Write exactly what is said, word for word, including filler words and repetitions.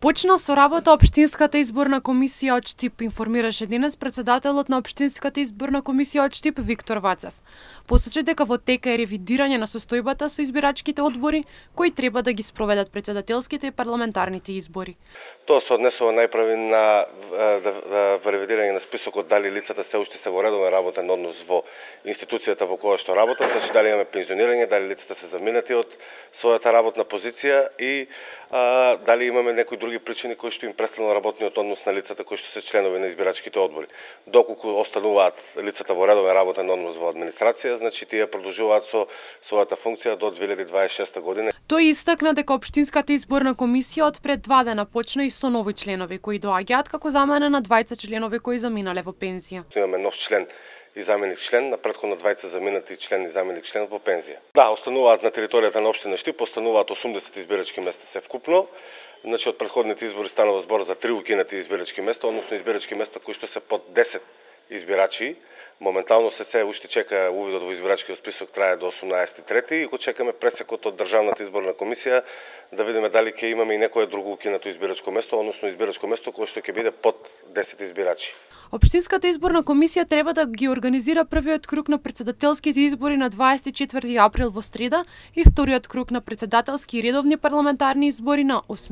Почна со работа Општинската изборна комисија од Штип, информираше денес претседателот на Општинската изборна комисија од Штип Виктор Вацев. Посочи дека во тека е ревидирање на состојбата со избирачките одбори кои треба да ги спроведат претседателските и парламентарните избори. Тоа се однесува најпрви на ревидирање на списокот дали лицата се уште се во редовен работен однос во институцијата во која што работат, значи дали имаме пензионирање, дали лицата се заминати од својата работна позиција и а, дали имаме некои други причини кои што им престанал работниот однос на лицата кои што се членови на избирачките одбори. Доколку остануваат лицата во редовен работен однос во администрација, значи тие продолжуваат со својата функција до две илјади дваесет и шеста година. Тој истакна дека Општинската изборна комисија од пред два дена почна и со нови членови кои доаѓаат како замена на двајца членови кои заминале во пензија. Имаме нов член и заменик член, на претходно двајца заминати член и заменик член во пензија. Да, остануваат на територијата на општина Штип, остануваат осумдесет избирачки места се вкупно. Значи од претходните избори станува збор за три укинати избирачки места, односно избирачки места кои што се под десет избирачи. Моментално се се уште чека увидот во избирачкиот список, трае до осумнаесети трети и го чекаме пресекот од Државната изборна комисија да видиме дали ќе имаме и некое друго укинато избирачко место, односно избирачко место кое што ќе биде под десет избирачи. Општинската изборна комисија треба да ги организира првиот круг на претседателските избори на дваесет и четврти април во среда и вториот круг на претседателски и редовни парламентарни избори на осми